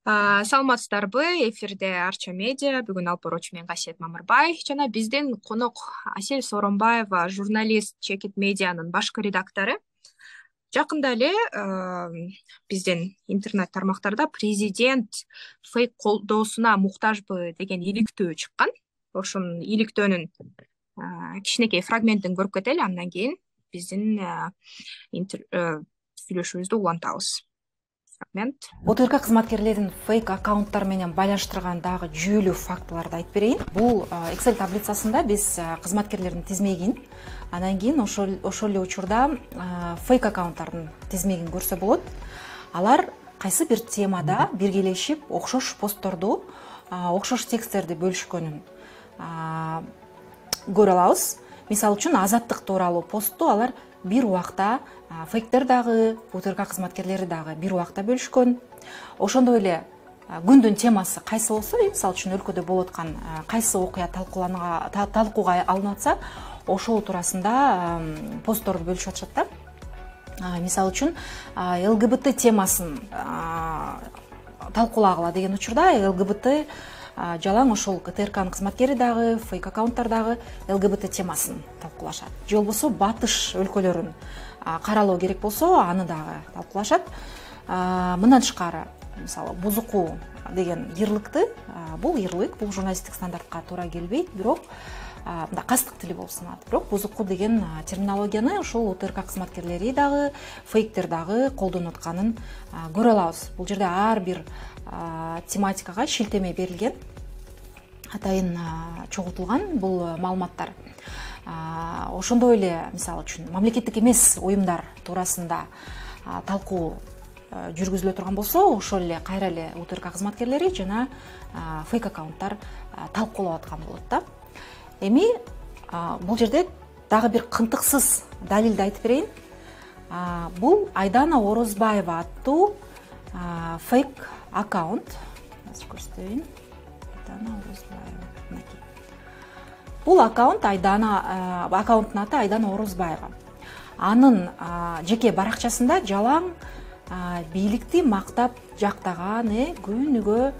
Саламатсыздарбы? Эфирде Арча медиа. Бүгүн алып баруучу мен Касиет Мамырбай жана биздин конок Асель Сооронбаева, журналист, Чекит медианын башкы редактору. Жакында эле биздин интернет тармактарда президент фейк колдоосуна муктажбы деген иликтөө чыккан. Ошонун иликтөөнүн кичинекей фрагментин көрүп кетели, андан кийин биздин сүйлөшүүбүздү улантабыз. Фрагмент. ОТРК кызматкерлерин фейк аккаунттар менен байланыштырган дагы жүйөлүү фактыларды айтып берейин. Бул Excel таблицасында биз кызматкерлердин тизмегин, андан кийин ошол эле учурда фейк аккаунттардын тизмегин көрсө болот. Алар кайсы бир темада биргелешип окшош постторду, окшош тексттерди бөлүшкөнүн көрө алабыз. Мисалы үчүн азаттык тууралуу постту алар бир убакта фейктер дагы, ОТРК кызматкерлери дагы бир убакта бөлүшкөн. Ошондой эле күндүн темасы кайсы болсо, мисалы үчүн өлкөдө болуп аткан кайсы окуя талкууга алынып атса, ошол туурасында постторду бөлүшүп атышат да. Мисалы үчүн ЛГБТ темасын талкуулагыла деген учурда ЛГБТ жалаң ошол ОТРКнын кызматкери дагы, фейк аккаунттар дагы ЛГБТ темасын талкуулашат. Же болбосо батыш өлкөлөрүн каралоо керек болсо, аны дагы талкуулашат. Мындан тышкары, мисалы, бузуку деген ярлыкты, бул ярлык, бул журналисттик стандартка туура келбейт, бирок мындай кастык тили болуп саналат. Бирок бузуку деген терминологияны ошол ОТРК кызматкерлери дагы, фейктер дагы колдонуп атканын көрө алабыз. Бул жерде ар бир тематикага шилтеме берилген, атайын чогултулган бул маалыматтар. Ошондой эле, мисалы үчүн, мамлекеттик эмес уюмдар туурасында талкуу жүргүзүлө турган болсо, ошол эле кайра эле ОТРК кызматкерлери жана фейк аккаунттар талкуулап аткан болот да. Эми бул жерде дагы бир кынтыксыз далилди айтып берейин. Бул Айдана Орозбаева аттуу фейк аккаунт. Көрсөтөйүн. Айдана Орозбаева. Бул аккаунт аккаунттун аты Айдана Орозбаева. Анын жеке баракчасында жалаң бийликти мактап жактаган, күнүгө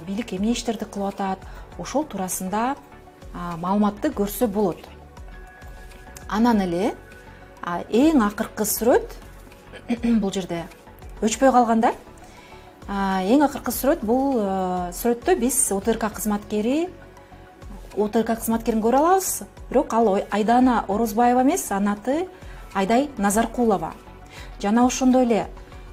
бийлик эмне иштерди кылып атат, ошол туурасында маалыматты көрсө болот. Анан эле эң акыркы сүрөт, бул жерде өчпөй калганда, эң акыркы сүрөт, бул сүрөттө биз ОТРК кызматкерин көрө алабыз, бирок ал Айдана Орозбаева эмес, анын аты Айдай Назаркулова. Жана ошондой эле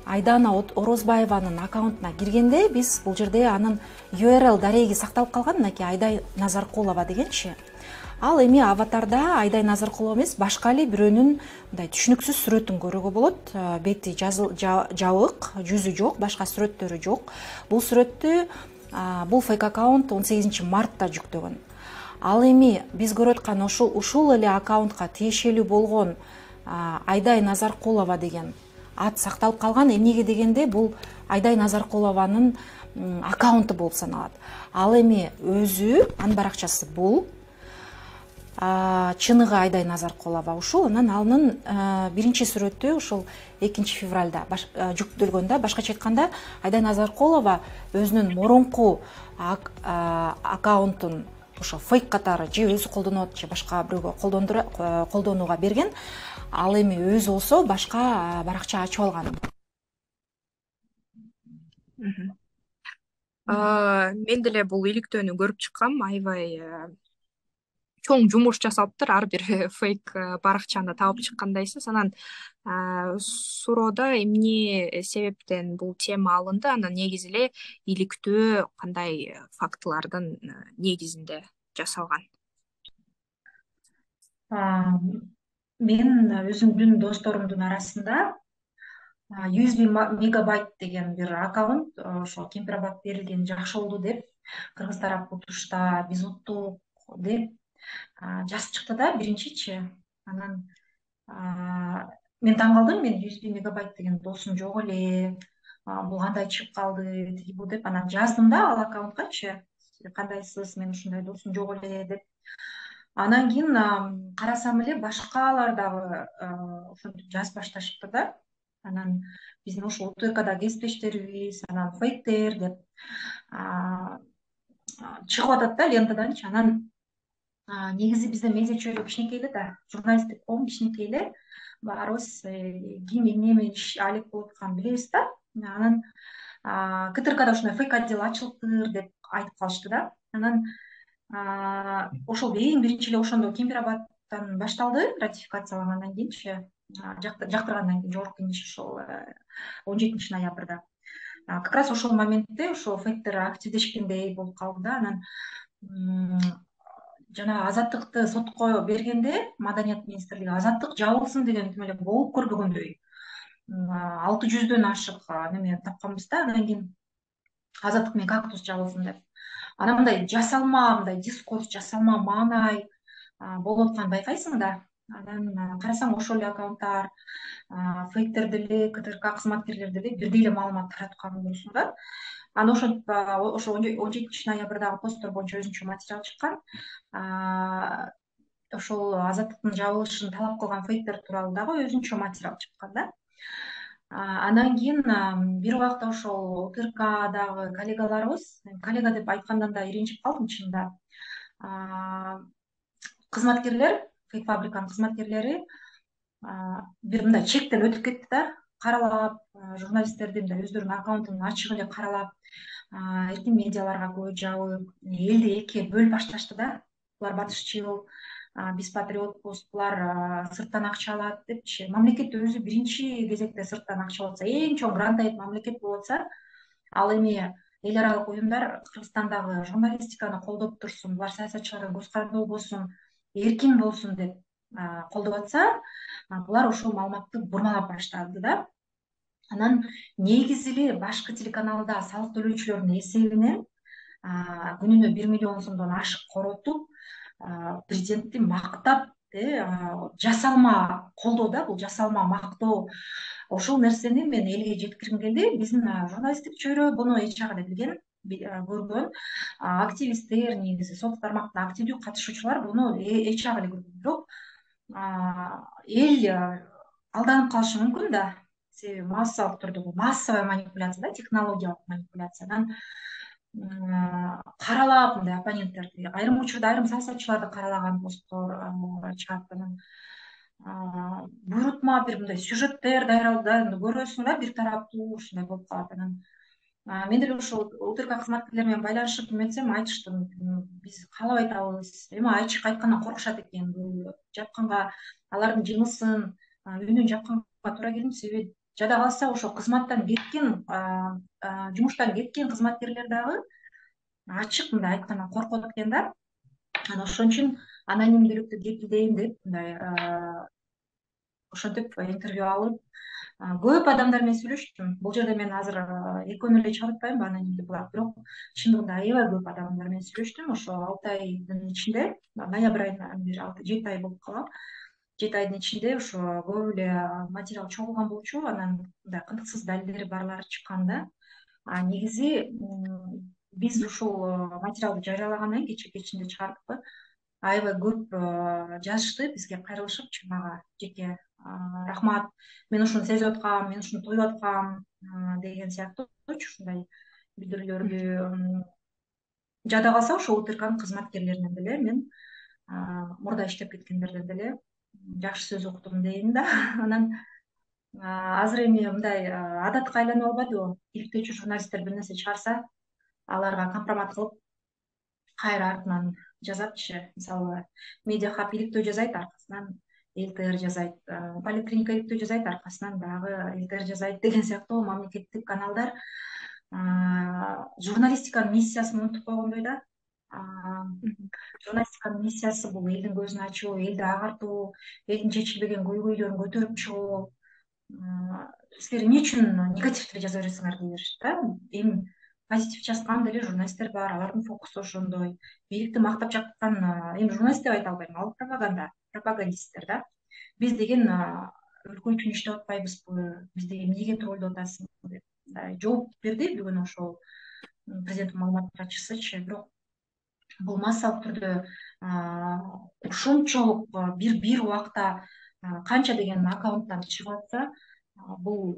Айдана Орозбаеванын аккаунтуна киргенде биз бул жерде анын URL дареги сакталып калган, мынакей Айдай Назаркулова дегенчи. Ал эми аватарда Айдай Назаркулова эмес, башка эле бирөөнүн мындай түшүнүксүз сүрөтүн көрүүгө болот. Бети жабык, жүзү жок, башка сүрөттөрү жок. Бул сүрөттү бул фейк аккаунт 18 мартта жүктөгөн. Ал эми биз көрүп аткан ушул эле аккаунтка тиешелүү болгон Айдай Назаркулова деген ат сакталып калган. Эмнеге дегенде, бул Айдай Назаркулованын аккаунту болуп саналат. Ал эми өзү, анын баракчасы бул, чыныгы Айдай Назаркулова ушул. Анан анын биринчи сүрөтү ошол 2 февралда жүктөлгөндө, башкача айтканда, Айдай Назаркулова өзүнүн мурунку аккаунтун ошо фейк катары же өзү колдонуп, же башка бирөөгө колдонууга берген. Ал эми өзү болсо башка баракча ачып алган. Мен деле бул иликтөөнү көрүп чыккам. Аябай чоң жумуш жасалыптыр, ар бир фейк баракчаны таап чыккандайсыз. Анан суроодо эмне себептен бул тема алынды, анан негизи эле иликтөө кандай фактылардын негизинде жасалган? Мен өзүмдүн досторумдун арасында 100 мегабайт деген бир аккаунт ошо кемпирабад берилген жакшы болду деп, кыргыз тарап утушта биз уттук деп жазып чыкты да биринчичи. Анан мен таң калдым, мен 100 мегабайт деген досум жок эле, бул кандай чыгып калды, тиги бу деп. Анан жаздым да ал аккаунткачы, кандайсыз, мен ушундай досум жок эле деп. Анан кийин карасам эле башкалар дагы ошентип жазып башташыптыр да. анан биздин ушул УТКда кесиптештерибиз анан фейктер деп чыгып атат да лентаданчы. Анан негизи бизде медиа чөйрө кичинекей эле да, журналисттик коом кичинекей эле, баарыбыз ким эмне менен алек болуп атканын билебиз да. Анан КТРКда ушундай фейк отдел ачылыптыр деп айтып калышты да. Анан ошол эң биринчи эле ошондо Кемпир-Абадтан башталды, ратификациялангандан кийинчи, жактыргандан кийин жогорку кеңеш ошол 17 ноябрда. Как раз ошол моментте ошол фейктер активдешкендей болуп калды да. Анан жана азаттыкты сотко бергенде Маданият министрлиги азаттык жабылсын деген тим эле болуп көрбөгөндөй 600дөн ашык неме тапканбыз да. Андан кийин азаттык менен кактус жабылсын деп. Анан мындай жасалма, мындай дискурс, жасалма маанай болуп атканын байкайсың да. Анан карасаң ошол эле аккаунттар, фейктер деле, КТРК кызматкерлери деле бирдей эле маалымат таратканын көрөсүң да. Анан ошентип ошо 17 ноябрдагы посттор боюнча өзүнчө материал чыккан. Ошол азаттыктын жабылышын талап кылган фейктер тууралуу дагы өзүнчө материал чыккан да. Андан кийин бир убакта ошол УТРКдагы коллегаларыбыз, коллега деп айткандан да иринчип калдым чынында, кызматкерлер, фейк фабриканын кызматкерлери бир мындай чектен өтүп кетти да, каралап, журналисттерди мындай өздөрүнүн аккаунтун ачык эле каралап, эркин медиаларга көз жабып, элди экиге бөлүп башташты да. Булар батышчыл, биз патриотпуз, булар сырттан акча алат депчи. Мамлекет өзү биринчи кезекте сырттан акча алып атса, эң чоң грант мамлекет болуп атса, ал эми эл аралык уюмдар Кыргызстандагы журналистиканы колдоп турсун, булар саясатчыларга көз каранды болбосун, эркин болсун деп колдоп атса, булар ошол маалыматты бурмалап баштады да. Анан негизи эле башкы телеканалда салык төлөөчүлөрдүн эсебинен күнүнө 1 миллион сомдон ашык коротуп, президентти мактап, жасалма колдоо да, бул жасалма мактоо. Ошол нерсени мен элге жеткиргим келди. Биздин журналисттик чөйрө буну эч жагы эле билген, көргөн. Активисттер, негизи социалдык тармактын активдүү катышуучулар буну эч жагы эле көргөн. Бирок эл алданып калышы мүмкүн да, себеби массалык түрдө бул массовый манипуляция да, технологиялык манипуляциядан каралап мындай оппоненттерди, айрым учурда айрым саясатчыларды каралаган посттор чыгат. Анан буйрутма бир мындай сюжеттер даярдаууда көрөсүң да, бир тараптуу ушундай болуп калат. Анан мен деле ушул УТРК кызматкерлери менен байланышып эметсем айтыштым, биз каалап айтабыз, эми ачык айткандан коркушат экен, бул жапканга алардын жынысын, үнүн жапканга туура келет. Себеби жада калса ошо кызматтан кеткен, жумуштан кеткен кызматкерлер дагы ачык мындай айткандан коркот экен да. Анан ошон үчүн анонимдүүлүктү кепилдейм деп мындай ошентип интервью алып көп адамдар менен сүйлөштүм. Бул жерде мен азыр экөөнү эле чыгарып атпайм анонимдүү, бирок чындыгында аябай көп адамдар менен сүйлөштүм. Ошо 6 айдын ичинде, ноябрь айынан бери 7 ай болуп калган. 7 айдын ичинде ошо көп эле материал чогулган болчу. Анан мындай кантыксыз далилдери барлары чыккан да. Негизи биз ушул материалды жарыялагандан кийин кечинде чыгардыкпы, аябай көп жазышты бизге, кайрылышыпчы мага жеке. Рахмат, мен ушуну сезип аткам, мен ушуну туюп аткам деген сыяктуучу ушундай билдирүүлөрдү. Жада калса ошо УТРКнын кызматкерлеринен деле мен мурда иштеп кеткендерден деле жакшы сөз уктум дейм да. Анан азыр эми мындай адатка айланып албадыбы, иликтөөчү журналисттер бир нерсе чыгарса, аларга компромат кылып кайра артынан жазатчы. Мисалы, Медиа Хаб иликтөө жазайт, аркасынан ЛТР жазайт, Поликлиника иликтөө жазайт, аркасынан дагы ЛТР жазайт деген сыяктуу мамлекеттик каналдар журналистиканын миссиясын унутуп койгондой да. Журналистиканын миссиясы бул элдин көзүн ачуу, элди агартуу, элдин чечилбеген көйгөйлөрүн көтөрүп чыгуу. Силер эмне үчүн негативди жаза бересиңер дей беришти да. Эми позитив жазган деле журналисттер бар, алардын фокусу ошондой. Бийликти мактап жаткан эми журналист деп айта албайм, ал пропагандисттер да. Биз деген өлкө үчүн иштеп атпайбызбы, бизди эмнеге троллдоп атасың деп жооп берди бүгүн ошол президенттин маалымат катчысычы. Бирок бул массалык түрдө ушунчалык бир убакта канча деген аккаунттан чыгып атса, бул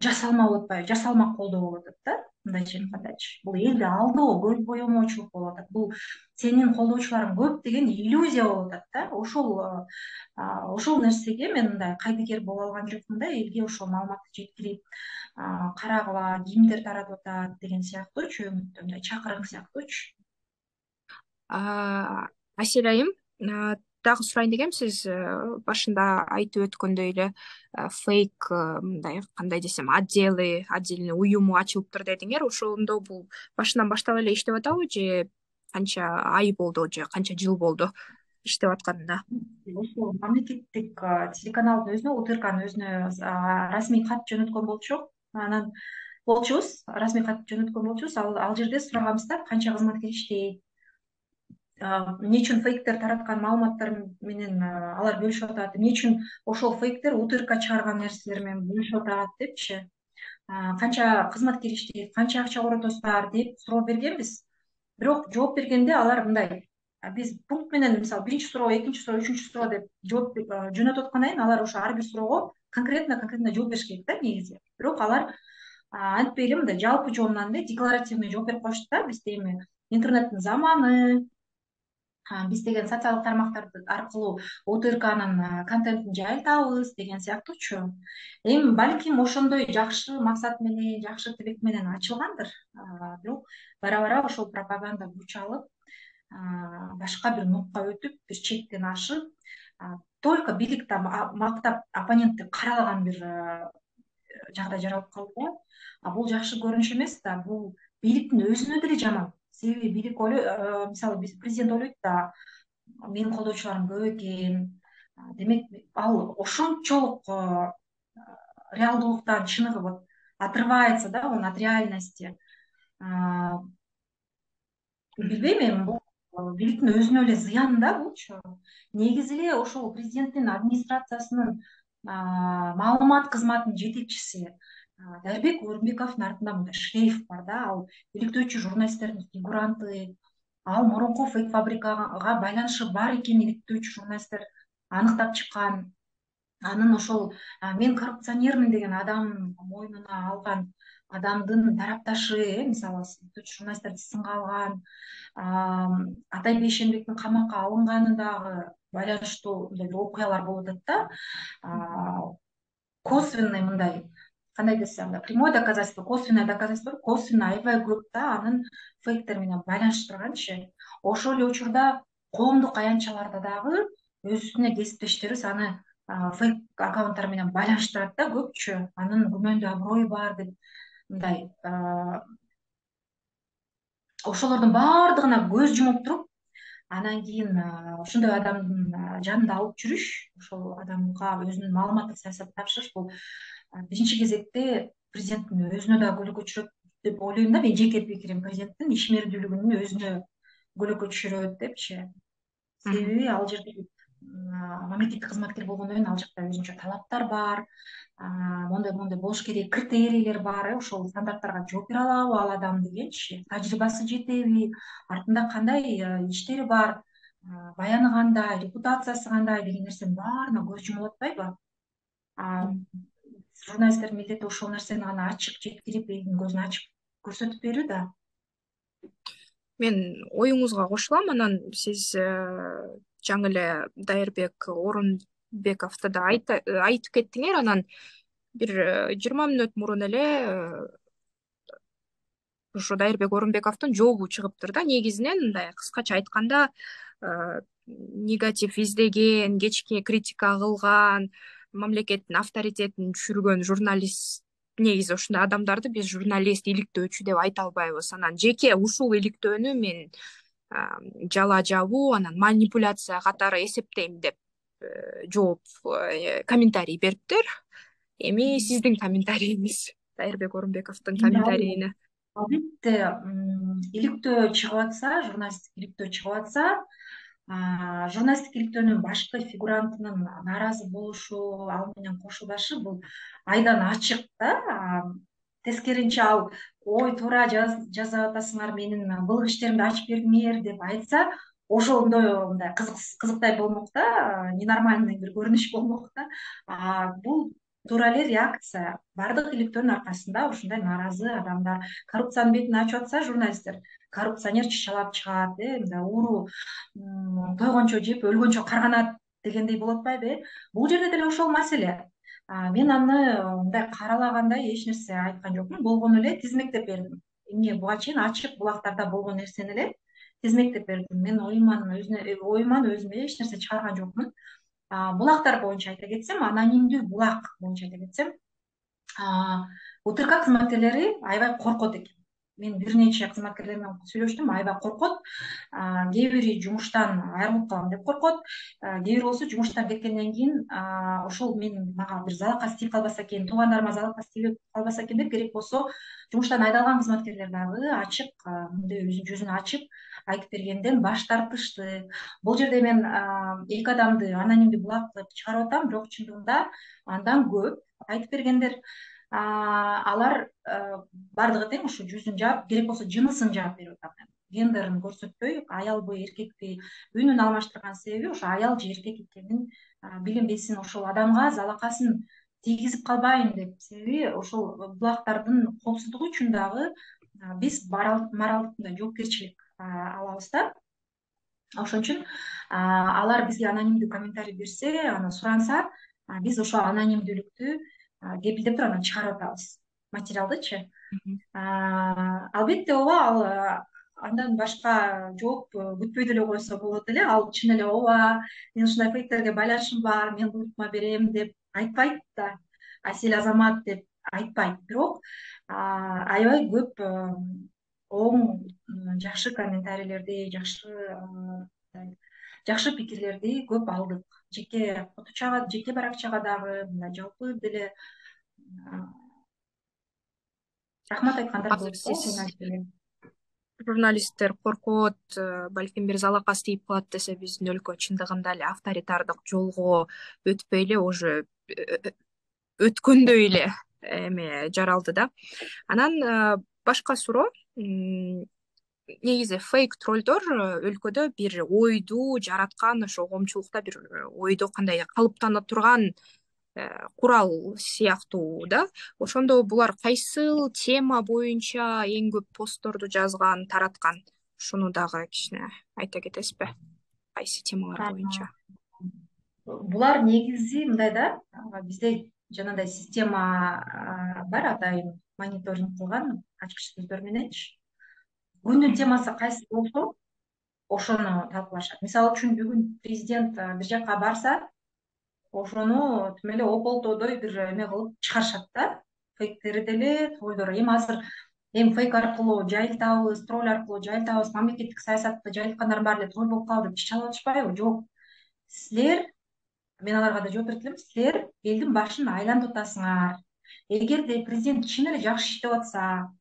жасалма болуп атпайбы, жасалма колдоо болуп атат да, мындайчы айткандачы. Бул элди алдоо, көз боемоочулук болуп атат. Бул сенин колдоочуларың көп деген иллюзия болуп атат да. Ошол нерсеге мен мындай кайдыгер боло алган жокмун да, элге ошол маалыматты жеткирип, карагыла, кимдер таратып атат деген сыяктуучу, мындай чакырык сыяктуучу. Асель айым, дагы сурайын дегем, сиз башында айтып өткөндөй эле фейк, мындай кандай десем, отдельный уюму ачылыптыр дедиңер. Ошондо бул башынан баштап эле иштеп атабы, же канча ай болду, же канча жыл болду иштеп атканына? Ошол мамлекеттик телеканалдын өзүнө, УТРКнын өзүнө расмий кат жөнөткөн болчук. Анан расмий кат жөнөткөн болчубуз. Ал жерде сураганбыз да, канча кызматкер иштейт, эмне үчүн фейктер тараткан маалыматтар менен алар бөлүшүп атат, эмне үчүн ошол фейктер УТРК чыгарган нерселер менен бөлүшүп атат депчи, канча кызматкер иштейт, канча акча коротосуздар деп суроо бергенбиз. Бирок жооп бергенде алар мындай, биз пункт менен, мисалы, биринчи суроо, экинчи суроо, үчүнчү суроо деп жооп жөнөтүп аткандан кийин алар ошо ар бир суроого конкретно жооп бериш керек да негизи. Бирок алар антпей эле мындай жалпы жоомдан эле декларативный жооп берип коюшту да. Бизде эми интернеттин заманы, биз деген социалдык тармактар аркылуу УТРКнын контентин жайылтабыз деген сыяктуучу. Эми балким ошондой жакшы максат менен, жакшы тилек менен ачылгандыр. Бирок бара ошол пропаганда күч алып, башка бир нукка өтүп, бир чектен ашып, только бийликти мактап оппонентти каралаган бир жагдай жаралып калды да. Бул жакшы көрүнүш эмес да, бул бийликтин өзүнө деле жаман. Себеби бийлик мисалы, президент ойлойт да, менин колдоочуларым көп экен. Демек, ал ошончолук реалдуулуктан чыныгы вот отрывается, да, он от реальности. Билбейм эми, бул бийликтин өзүнө эле зыян да булчу. Негизи эле ошол президенттин администрациясынын маалымат кызматынын жетекчиси Дарбек Орунбековдун артында мындай шлейф бар да. Ал иликтөөчү журналисттердин фигуранты. Ал мурунку фейк фабрикага байланышы бар экенин иликтөөчү журналисттер аныктап чыккан. Анын ошол мен коррупционермин деген адам мойнуна алган адамдын тарапташы, мисалы, журналисттерди сынга алган, Атай Бейшенбектин камакка алынганы дагы байланыштуу мындай окуялар болуп атат да. Косвенный мындай, кандай десем, прямое доказательство, косвенное доказательство, косвенно аябай көп да анын фейктер менен байланыштырганчы. Ошол эле учурда коомдук аянтчаларда дагы өзүнө кесиптештерибиз аны фейк аккаунттар менен байланыштырат да көпчү. Анын күмөндүү аброю бар деп мындай ошолордун баардыгына көз жумуп туруп, анан кийин ошондой адамдын жанында алып жүрүш, ошол адамга өзүнүн маалыматтык саясатын тапшырыш, бул биринчи кезекте президенттин өзүнө да көйгөй түшүрөт деп ойлойм да. Менин жеке пикирим, президенттин ишмердүүлүгүнүн өзүнө көйгөй түшүрөт депчи. Себеби ал жерде мамлекеттик кызматкер болгондон кийин ал жакта өзүнчө талаптар бар, мондой болуш керек, критерийлер бар. Ошол стандарттарга жооп бере алабы ал адам дегенчи, тажрыйбасы жетеби, артында кандай иштери бар, баяны кандай, репутациясы кандай деген нерсенин баарына көз жумулуп атпайбы? Журналисттердин милдети ошол нерсени гана ачык жеткирип, элдин көзүн ачык көрсөтүп берүү да. Мен оюңузга кошулам. Анан сиз жаңы эле Дайырбек Орунбековду да айтып кеттиңер. Анан бир 20 мүнөт мурун эле ушу Дайырбек Орунбековдун жообу чыгыптыр да. Негизинен мындай кыскача айтканда, негатив издеген, кечке критика кылган, мамлекеттин авторитетин түшүргөн журналист, негизи ушундай адамдарды биз журналист, иликтөөчү деп айта албайбыз. Анан жеке ушул иликтөөнү мен жала жабуу, анан манипуляция катары эсептейм деп жооп, комментарий бериптир. Эми сиздин комментарийиңиз Дайырбек Орунбековдун комментарийине. Албетте, иликтөө чыгып атса, журналисттик иликтөө чыгып атса, журналисттик иликтөөнүн башкы фигурантынын нааразы болушу, ал менен кошулдашы бул айдан ачык да. Тескеринче ал ой туура жазып атасыңар, менин былык иштеримди ачып бердиңер деп айтса, ошондой мындай кызыктай болмок да, ненормальный бир көрүнүш болмок да. Бул туура эле реакция баардык иликтөөнүн аркасында ушундай нааразы адамдар, коррупциянын бетин ачып атса журналисттер, коррупционер чычалап чыгат, мындай ууру тойгончо жеп өлгөнчө карганат дегендей болуп атпайбы. Бул жерде деле ошол маселе. Мен аны мындай каралагандай эч нерсе айткан жокмун, болгону эле тизмектеп бердим. Эмне буга чейин ачык булактарда болгон нерсени эле тизмектеп бердим. Мен оюман өзүм эч нерсе чыгарган жокмун. Булактар боюнча айта кетсем, анонимдүү булак боюнча айта кетсем, УТК кызматкерлери аябай коркот экен. Мен бир нече кызматкерлер менен сүйлөштүм, аябай коркот. Кээ бири жумуштан айрылып калам деп коркот, кээ бири болсо жумуштан кеткенден кийин ошол мага бир залакасы тийип калбаса экен, туугандарыма залакасы тийип калбаса экен деп, керек болсо жумуштан айдалган кызматкерлер дагы ачык мындай өзүнүн жүзүн ачып айтып бергенден баш тартышты. Бул жерде мен эки адамды анонимдүү булак кылып чыгарып атам, бирок чындыгында андан көп айтып бергендер. Алар баардыгы тең ушу жүзүн жаап, керек болсо жынысын жаап берип атам. Гендерин көрсөтпөй, аялбы эркекпи үнүн алмаштырган себеби ошо аял же эркек экенин билинбесин, ошол адамга залакасын тийгизип калбайын деп. Себеби ошол булактардын коопсуздугу үчүн дагы биз моралдык мындай жоопкерчилик алабыз да. Ошон үчүн алар бизге анонимдүү комментарий берсе, аны суранса, биз ошол анонимдүүлүктү кепилдеп туруп анан чыгарып атабыз, материалдычы. Албетте ооба, ал андан башка жооп күтпөй деле койсо болот эле. Ал чын эле ооба, мен ушундай фейктерге байланышым бар, мен буйртма берем деп айтпайт да, Асель Азамат деп айтпайт. Бирок аябай көп оң, жакшы комментарийлерди, жакшы пикирлерди көп алдык. Жеке фоточага, жеке баракчага дагы, мындай жалпы деле рахмат айткандар Азыр болуп сиз журналисттер коркот, балким бир залакасы тийип калат десе, биздин өлкө чындыгында эле авторитардык жолго өтпөй эле уже өткөндөй эле эме жаралды да. Анан башка суроо, негизи фейк троллдор өлкөдө бир ойду жараткан, ошо коомчулукта бир ойдо кандай калыптана турган курал сыяктуу да. Ошондо булар кайсыл тема боюнча эң көп постторду жазган, тараткан? Ушуну дагы кичине айта кетесизби? Кайсы темалар боюнча? Булар негизи мындай да, бизде жанагындай система бар, атайын мониторинг кылган ачкыч сөздөр мененчи. Күндүн темасы кайсы болсо, ошону талкуулашат. Мисалы үчүн бүгүн президент бир жака барса, ошону тим эле ополтодой бир эме кылып чыгарышат да. Фейктери деле, троллдор. Азыр фейк аркылуу жайылтабыз, тролль аркылуу жайылтабыз, мамлекеттик саясатты жайылткандар баары эле тролль болуп калды деп чычалып атышпайбы? Жок. Силер, мен аларга да жооп берет элем, силер элдин башын айлантып атасыңар. Эгерде президент чын эле жакшы иштеп атса,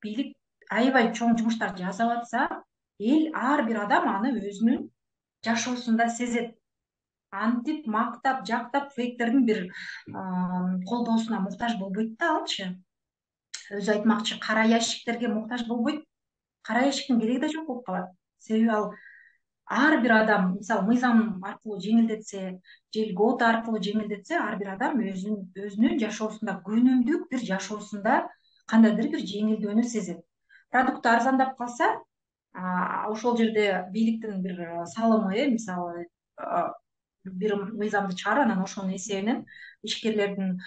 бийлик аябай чоң жумуштар жасап атса, эл, ар бир адам аны өзүнүн жашоосунда сезет. Антип, мактап, жактап фейктердин бир колдоосуна муктаж болбойт да алчы. Өзү айтмакчы, кара ящиктерге муктаж болбойт. Кара ящиктин кереги да жок болуп калат. Себеби ал ар бир адам, мисалы, мыйзам аркылуу жеңилдетсе, же льгота аркылуу жеңилдетсе, ар бир адам өзүнүн жашоосунда, күнүмдүк бир жашоосунда кандайдыр бир жеңилдөөнү сезет. Продукт арзандап калса, ошол жерде бийликтин бир салымы, мисалы, бир мыйзамды чыгарып, анан ошонун эсебинен ишкерлерге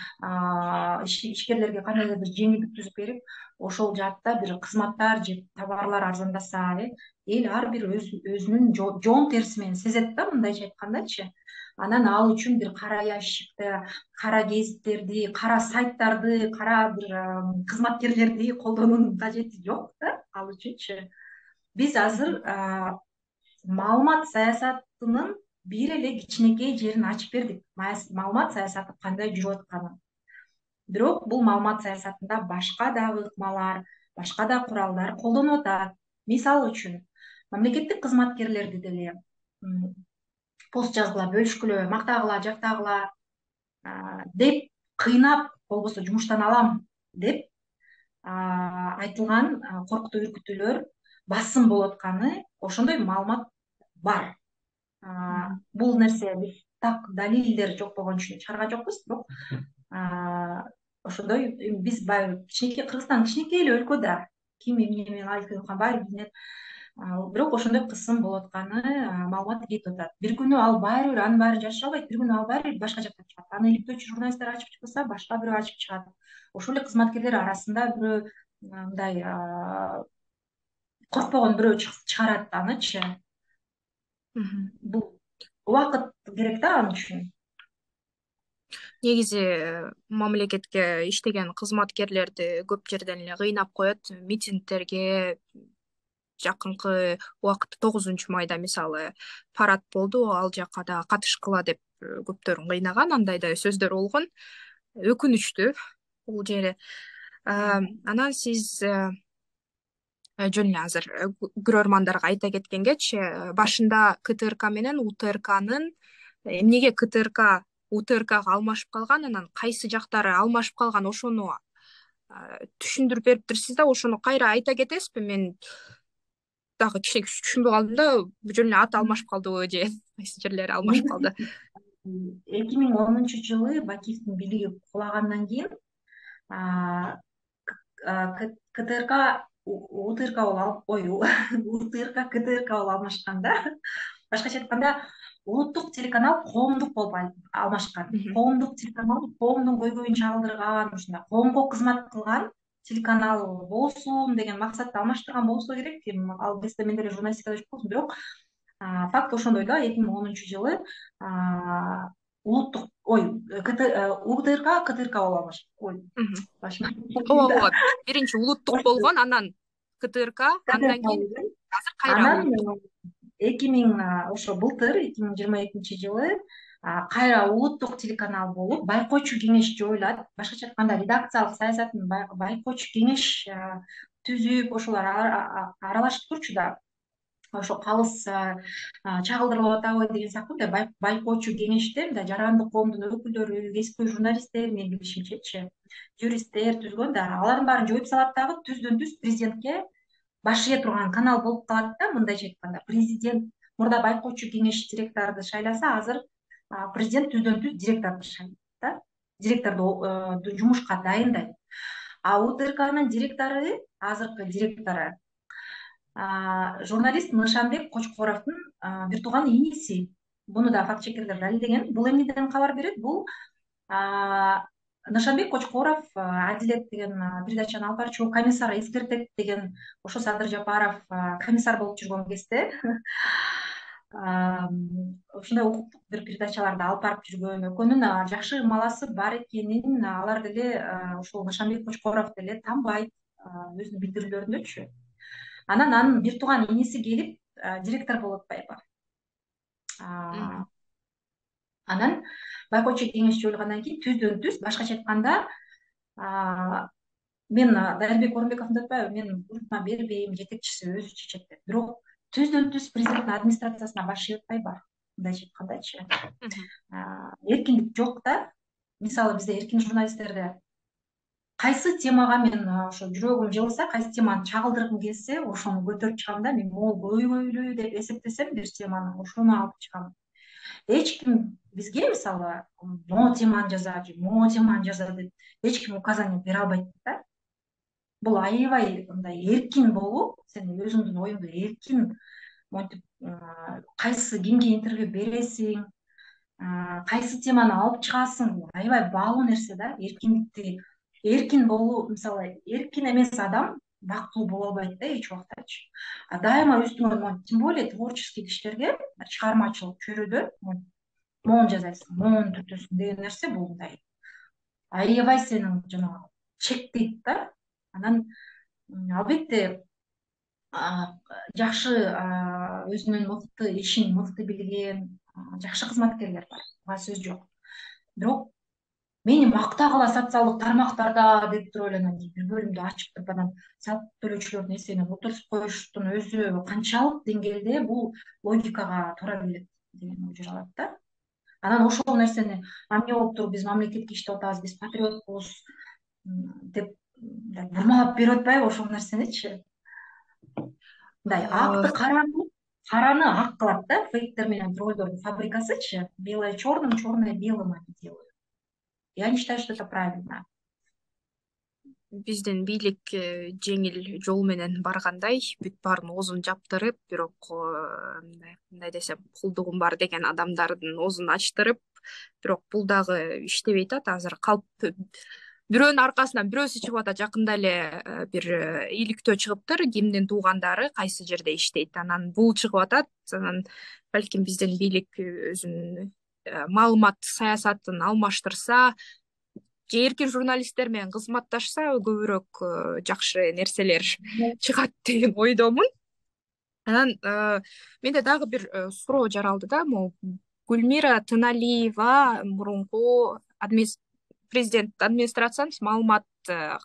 кандайдыр бир жеңилдик түзүп берип, ошол жаатта бир кызматтар же товарлар арзандаса, эл ар бир өзүнүн жоон терisi менен сезет да, мындайча айткандачы. Анан ал үчүн бир кара ящикти, кара гезиттерди, кара сайттарды, кара бир кызматкерлерди колдоонун кажети жок да ал үчүнчү. Биз азыр маалымат саясатынын бир эле кичинекей жерин ачып бердик. Маалымат саясаты кандай жүрүп атканын. Бирок бул маалымат саясатында башка дагы ыкмалар, башка да куралдар колдонулуп атат. Мисалы үчүн, мамлекеттик кызматкерлерди деле пост жазгыла, бөлүшкүлө, мактагыла, жактагыла деп кыйнап, болбосо жумуштан алам деп айтылган коркутуу үркүтүүлөр, басым болуп атканы, ошондой маалымат бар. Бул нерсе биз так далилдер жок болгон үчүн чыгарган жокпуз, бирок ошондой биз баягы кичинекей, Кыргызстан кичинекей эле өлкө да, ким эмне менен айылтып атканын баары билинет. Бирок ошондой кысым болуп атканы маалымат кетип атат. Бир күнү ал баары бир анын баарын жашыра албайт, бир күнү ал баары бир башка жакка чыгат. Аны иликтөөчү журналисттер ачып чыкпаса, башка бирөө ачып чыгат. Ошол эле кызматкерлер арасында бирөө мындай коркпогон бирөө чыгарат анычы. Бул убакыт керек да ал үчүн. Негизи мамлекетке иштеген кызматкерлерди көп жерден эле кыйнап коет. Митингдерге жакынкы убакытта 9 майда мисалы парад болду, ал жакка да катышкыла деп көптөрүн кыйнаган, андай да сөздөр болгон. Өкүнүчтүү бул жери. Анан сиз жөн эле азыр көрөрмандарга айта кеткенгечи, башында КТРК менен УТРКнын эмнеге КТРК УТРКга алмашып калган, анан кайсы жактары алмашып калган, ошону түшүндүрүп бериптирсиз да, ошону кайра айта кетесизби? Мен дагы кичине түшүнбөй калдым да, жөн эле аты алмашып калдыбы же кайсы жерлери алмашып калды? 2010-жылы Бакиевдин бийлиги кулагандан кийин КТРК УТРК УТРК КТРК болуп алмашкан да. Башкача айтканда, улуттук телеканал коомдук болуп алмашкан. Коомдук телеканал коомдун көйгөйүн чагылдырган, ушундай коомго кызмат кылган телеканал болсун деген максатта алмаштырган болсо керек. Ал кезде мен деле журналистикада жок болсум, бирок факт ошондой да. 2010-жылы улуттук УТРК КТРК болуп алмашкан. Ооба, биринчи улуттук болгон, анан КТРК, андан кийин азыр кайра 2000 ошо былтыр 2022-жылы кайра улуттук телеканал болуп, байкоочу кеңеш жоюлат. Башкача айтканда, редакциялык саясатын байкоочу кеңеш түзүп, ошолор аралашып турчу да. Ошо калыс чагылдырылып атабы деген сыяктуу байкоочу кеңеште мындай жарандык коомдун өкүлдөрү, кесиптүү журналисттер, менин билишимчечи, юристтер түзгөн да. Алардын баарын жоюп салат дагы, түздөн түз президентке баш ие турган канал болуп калат да. Мындайча айтканда, президент мурда байкоочу кеңеш директорду шайласа, азыр президент түздөн түз директорду шайлайт да. Директорду жумушка дайындайт. УТРКнын директору, азыркы директору журналист Нышанбек Кочкоровдун бир тууган иниси. Буну да факт чекерлер далилдеген. Бул эмнеден кабар берет? Бул Нышанбек Кочкоров Адилет деген передачаны алып барчу, комиссар эскертет деген, ошо Садыр Жапаров комиссар болуп жүргөн кезде ушундай укуктук бир передачаларды алып барып жүргөн, экөөнүн жакшы маласы бар экенин алар деле, ошол Нышанбек Кочкоров деле танбайт өзүнүн билдирүүлөрүндөчү. Анан анын бир тууган иниси келип директор болуп атпайбы. Анан байкоочу кеңеш жоюлгандан кийин түздөн түз, башкача айтканда, мен Дайырбек Орунбековдун атпайбы, мен буйрутма бербейм, жетекчиси өзү чечет деп. Бирок түздөн түз президенттин администрациясына баш ие атпайбы, мындайча айткандачы. Эркиндик жок да. Мисалы бизде эркин журналисттерде кайсы темага мен ошо жүрөгүм жылыса, кайсы теманы чагылдыргым келсе, ошону көтөрүп чыгам да. Мен могул көйгөйлүү деп эсептесем бир теманы, ошону алып чыгам. Эч ким бизге мисалы могу теманы жаза же могу теманы жаза деп эч ким указание бере албайт да. Бул аябай мындай эркин болуп, сен өзүңдүн оюңду эркин монтип кайсы кимге интервью бересиң, кайсы теманы алып чыгасың, аябай баалуу нерсе да. Эркиндикти, эркин болуу, мисалы эркин эмес адам бактылуу боло албайт да эч убактачы. Дайыма үстүңөн, тем более творческий кишилерге чыгармачылык чөйрөдө могуну жасайсың, могуну түртөсүң деген нерсе бул мындай аябай сенин жанагы чектейт да. Анан албетте жакшы өзүнүн мыкты ишин мыкты билген жакшы кызматкерлер бар, ага сөз жок. Бирок мени мактагыла социалдык тармактарда деп туруп эле анан бир бөлүмдү ачып туруп анан салык төлөөчүлөрдүн эсебинен отургузуп коюштун өзү канчалык деңгээлде бул логикага туура келет деген ой жаралат да. Анан ошол нерсени эмне болуптур, биз мамлекетке иштеп атабыз, биз патриотпуз деп бурмалап берип атпайбы ошол нерсеничи? Мындай акты караңгы, караны ак кылат да, фейктер менен троллдордун фабрикасычы. Белое черным, черное белым они делают. Я не считаю, что это правильно. Биздин бийлик жеңил жол менен баргандай бүт баарын оозун жаптырып, бирок мындай десем кулдугум бар деген адамдардын оозун ачтырып, бирок бул дагы иштебей атат. Азыр калп бирөөнүн аркасынан бирөөсү чыгып атат. Жакында эле бир иликтөө чыгыптыр, кимдин туугандары кайсы жерде иштейт, анан бул чыгып атат. Анан балким биздин бийлик өзүнүн маалымат саясатын алмаштырса же эркин журналисттер менен кызматташса көбүрөөк жакшы нерселер чыгат деген ойдомун. Анан менде дагы бир суроо жаралды да. Могу Гүлмира Тыналиева мурунку президент администрациянын маалымат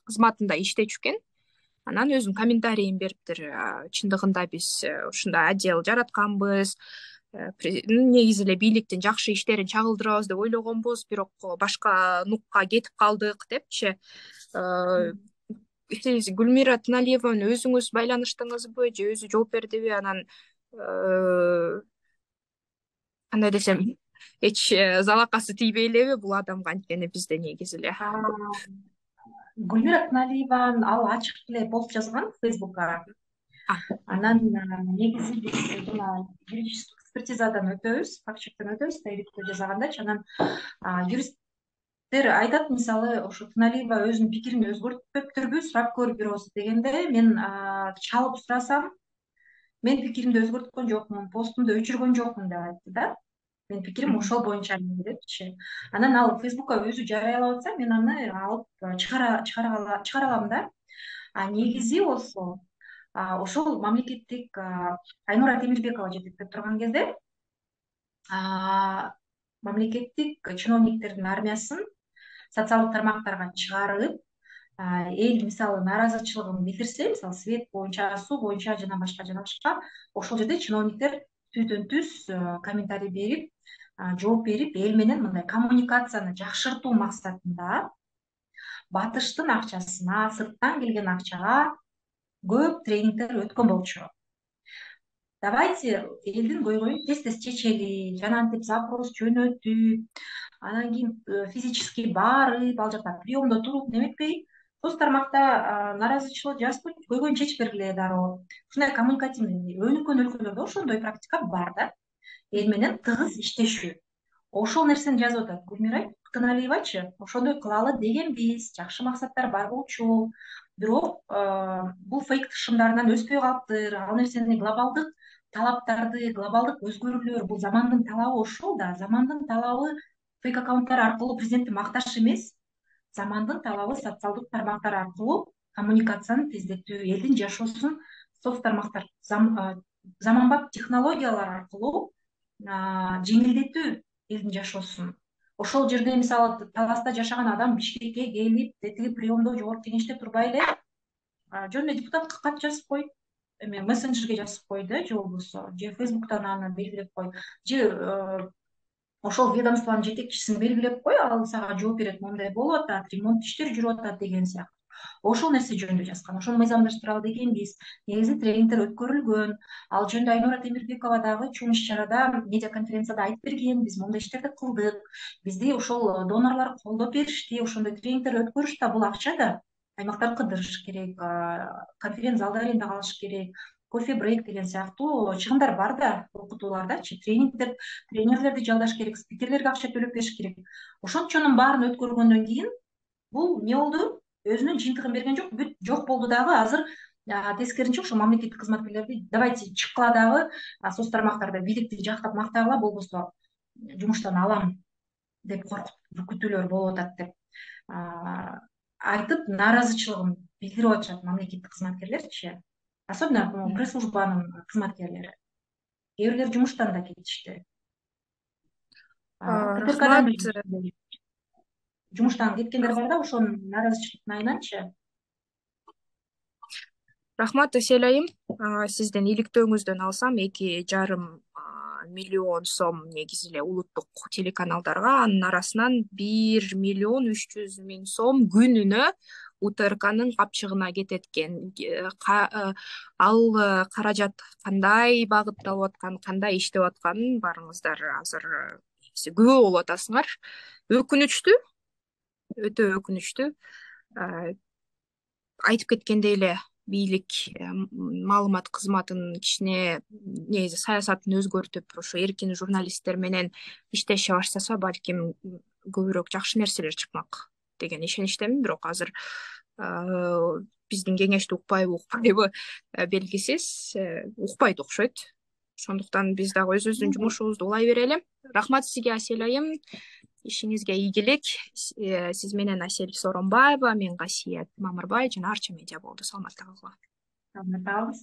кызматында иштечү экен. Анан өзүнүн комментарийин бериптир. Чындыгында биз ушундай отдел жаратканбыз, негизи эле бийликтин жакшы иштерин чагылдырабыз деп ойлогонбуз, бирок башка нукка кетип калдык депчи. Сиз Гүлмира Тыналиеваны өзүңүз байланыштыңызбы же өзү жооп бердиби? Анан кандай десем, эч залакасы тийбей элеби бул адамга? Анткени бизде негизи эле Гүлмира Тыналиева ал ачык эле пост жазган Фейсбукка. Анан негизи биз жана юридический экспертизадан өтөбүз, факт чектен өтөбүз да, иликтөө жасагандачы. Анан юристтер айтат, мисалы ошо Тыналиева өзүнүн пикирин өзгөртпөптүрбү, сурап көр бирөөсү дегенде, мен чалып сурасам, мен пикиримди өзгөрткөн жокмун, постумду өчүргөн жокмун деп айтты да. Менин пикирим ошол боюнча депчи. Анан ал Фейсбукка өзү жарыялап атса, мен аны алып чыгара алам да. Негизи болсо ошол мамлекеттик Айнура Темирбекова жетектеп турган кезде мамлекеттик чиновниктердин армиясын социалдык тармактарга чыгарып, эл мисалы нааразычылыгын билдирсе, мисалы свет боюнча, суу боюнча жана башка, ошол жерде чиновниктер түздөн түз комментарий берип, жооп берип, эл менен мындай коммуникацияны жакшыртуу максатында батыштын акчасына, сырттан келген акчага көп тренингдер өткөн болчу. Давайте элдин көйгөйүн тез чечели, жанагынтип запрос жөнөтүп, анан кийин физически барып, ал жакта приемдо туруп неметпей, соц тармакта нааразычылык жазып, көйгөйүн чечип бергиле дароо. Ушундай коммуникативный өнүккөн өлкөлөрдө ошондой практика бар да. Эл менен тыгыз иштешүү. Ошол нерсени жазып атат Гүлмира Тыналиевачы. Ошондой кылалы дегенбиз, жакшы максаттар бар болчу. Бирок бул фейк шымдарынан өспөй калыптыр. Ал нерсени глобалдык талаптарды, глобалдык өзгөрүүлөр, бул замандын талабы ошол да. Замандын талабы фейк аккаунттар аркылуу президентти макташ эмес. Замандын талабы социалдык тармактар аркылуу коммуникацияны тездетүү, элдин жашоосун соц тармактар, заманбап технологиялар аркылуу жеңилдетүү элдин жашоосун. Ошол жерде мисалы Таласта жашаган адам Бишкекке келип, тетиги приемдо, жогорку кеңеште турбай эле жөн эле депутатка кат жазып кой, эме мессенджерге жазып кой да, же болбосо же Фейсбуктан аны белгилеп кой, же ошол ведомствонун жетекчисин белгилеп кой, ал сага жооп берет, моундай болуп атат, ремонт иштери жүрүп атат деген сыяктуу. Ошол нерсе жөнүндө жазган. Ошону мыйзамдаштыралы дегенбиз. Негизи тренингдер өткөрүлгөн. Ал жөнүндө Айнура Темирбекова дагы чоң иш-чарада, медиа конференцияда айтып берген. Биз моундай иштерди кылдык. Бизди ошол донорлор колдоп беришти. Ошондой тренингдер өткөрүш да, бул акча да аймактар кыдырыш керек, конференц залда аренда калыш керек, кофе брейк деген сыяктуу чыгымдар бар да, окутуулардачы, тренерлерди жалдаш керек, спикерлерге акча төлөп бериш керек. Ошончонун баарын өткөргөндөн кийин бул эмне болду? Өзүнүн жыйынтыгын берген жок, бүт жок болду дагы. Азыр тескерисинче ошо мамлекеттик кызматкерлерди давайте чыккыла дагы соц тармактарда бийликти жактап мактагыла, болбосо жумуштан алам деп күтүүлөр болуп атат деп айтып, нааразычылыгын билдирип атышат мамлекеттик кызматкерлерчи, особенно пресс-службанын кызматкерлери. Кээ бирлер жумуштан да кетишти. Жумуштан кеткендер бар да, ошонун нааразычылыктын айынан,чы. Рахмат Асель айым. Сиздин иликтөөңүздөн алсам 2,5 миллион сом негизи эле улуттук телеканалдарга, анын арасынан 1,3 миллион сом күнүнө УТРКнын капчыгына кетет экен. Ал каражат кандай багытталып аткан, кандай иштеп атканын баарыңыздар азыр күбө болуп атасыңар. Өкүнүчтүү, өтө өкүнүчтүү. Айтып кеткендей эле бийлик маалымат кызматынын кичине негизи саясатын өзгөртүп, ошо эркин журналисттер менен иштеше баштаса, балким көбүрөөк жакшы нерселер чыкмак деген ишеничтемин. Бирок азыр биздин кеңешти укпайбы белгисиз. Укпайт окшойт. Ошондуктан биз дагы өзүбүздүн жумушубузду улай берели. Рахмат сизге, Асель айым. Ишиңизге ийгилик. Сиз менен Асель Сооронбаева, мен Гасият Мамырбай жана Арча медиа болду. Саламатта калгыла. Саламатта калыңыз.